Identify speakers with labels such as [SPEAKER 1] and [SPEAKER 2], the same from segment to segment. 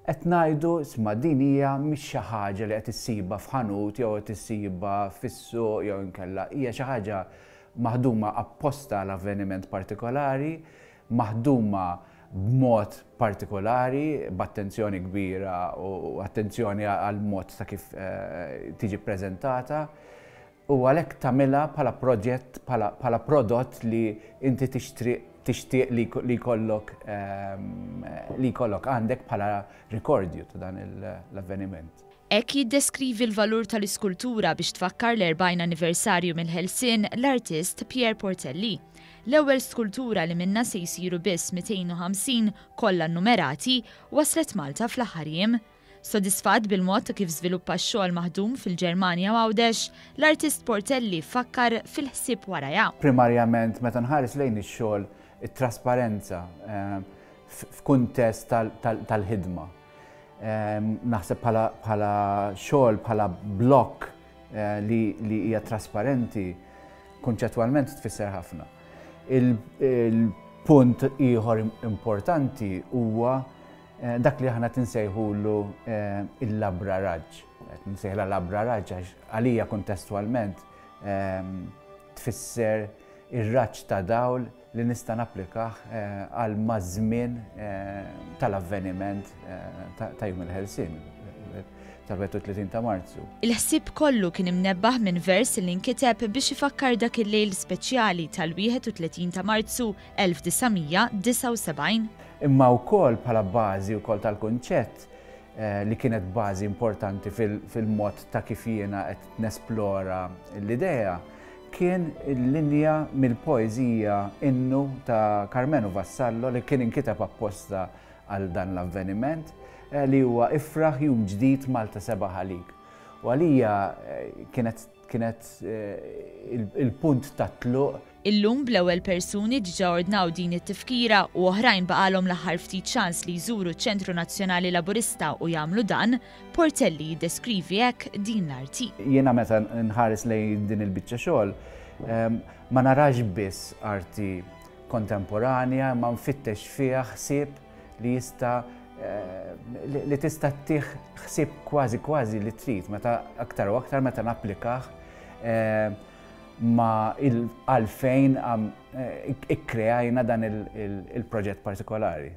[SPEAKER 1] Qed ngħidu, isma' din hija mhix xi ħaġa li qed issibha f'ħanut jew qed issibha fis-suq jew inkella hija xi ħaġa maħduma apposta għal avveniment partikolari, maħduma b'mod partikolari, b'attenzjoni kbira u attenzjoni għall-mod ta' kif tiġi ppreżentata. U għalhekk tagħmilha bħala proġett, bħala prodott li inti tixtri tixtieq li jkollok li jkollok għandek bħala rikordju ta' dan l-avveniment.
[SPEAKER 2] Hekk jiddeskrivi l-valur tal-iskultura biex tfakkar l-40 anniversarju mill-ħelsien l-artist Pierre Portelli. L-ewwel skultura li minnha se jsiru biss 250 kollha nnumerati waslet Malta fl-aħħar jiem. Sodisfatt bil-mod ta' kif żviluppa x-xogħol maħdum fil-Ġermanja u Għawdex, l-artist Portelli fakkar fil-ħsieb warajha.
[SPEAKER 1] Primarjament meta nħares lejn ix-xogħol, it-trasparenza f'kuntest tal-ħidma. Naħseb bħala xogħol, bħala blokk li hija trasparenti, kunċettwalment tfisser ħafna. Il-punt ieħor importanti huwa Dak li aħna qed insejħulu il-labra raġġ. Qed nsejħla labra raġġ għax għalija kuntestwalment tfisser ir-raġġ ta' dawl li nista' napplikah għal maż-żmien tal-avveniment ta' Jum il-Ħelsien tal-31 ta' Marzu.
[SPEAKER 2] Il-ħsieb kollu kien imnebbaħ minn vers li nkiteb biex ifakkar dak il-lejl speċjali tal-31 ta' Marzu 1979.
[SPEAKER 1] Imma wkoll bħala bażi wkoll tal-kunċett li kienet bażi importanti fil-mod ta' kif jiena qed nesplora l-idea, kien il-linja mill-poeżija Innu ta' Karmenu Vassallo li kien inkiteb apposta għal dan l-avveniment li huwa Ifraħ jum ġdid Malta sebaħ għalik. U għalija kienet kienet il-punt tat-tluq.
[SPEAKER 2] Illum bl-ewwel persuni diġà ordnaw din it-tifkira u oħrajn baqgħalhom l-aħħar ftit ċans li jżuru ċ-Ċentru Nazzjonali Laburista u jagħmlu dan, Portelli jiddeskrivi hekk din l-arti.
[SPEAKER 1] Jiena meta nħares lejn din il-biċċa xogħol ma narax biss arti kontemporanja imma nfittex fiha ħsieb li jista' li tista' ttih ħsieb kważi kważi li trid meta aktar u aktar meta napplikah ma' għalfejn ikkreajna dan il-proġett partikolari.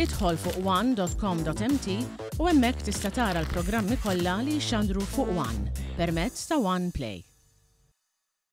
[SPEAKER 3] Idħol fuq one.com.mt u hemmhekk tista' tara l-programmi kollha li jixxandru fuq One permezz ta' One Play.